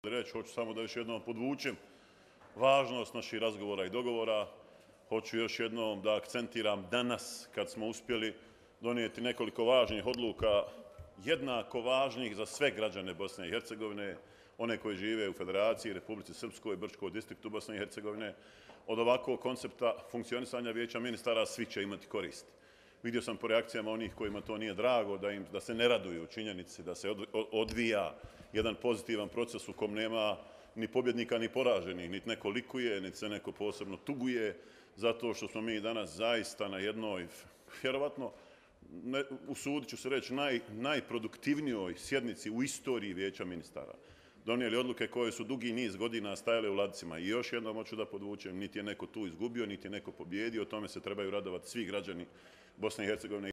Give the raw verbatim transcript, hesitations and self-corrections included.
reći, hoću samo da još jednom podvučem važnost naših razgovora i dogovora. Hoću još jednom da akcentiram danas kad smo uspjeli donijeti nekoliko važnih odluka, jednako važnih za sve građane Bosne i Hercegovine, one koji žive u Federaciji, Republici Srpskoj, Brčkom distriktu Bosne i Hercegovine. Od ovakvog koncepta funkcionisanja Vijeća ministara svi će imati koristi. Vidio sam po reakcijama onih kojima to nije drago, da, im, da se ne raduju činjenici, da se odvija jedan pozitivan proces u kom nema ni pobjednika ni poraženih, niti neko likuje, niti se neko posebno tuguje, zato što smo mi danas zaista na jednoj, vjerovatno, ne, usudit ću se reći, naj, najproduktivnijoj sjednici u istoriji Vijeća ministara. Donijeli odluke koje su dugi niz godina stajale u ladicima. I još jednom hoću da podvučem, niti je neko tu izgubio, niti je neko pobjedio, o tome se trebaju radovati svi građani Bosne i Hercegovine.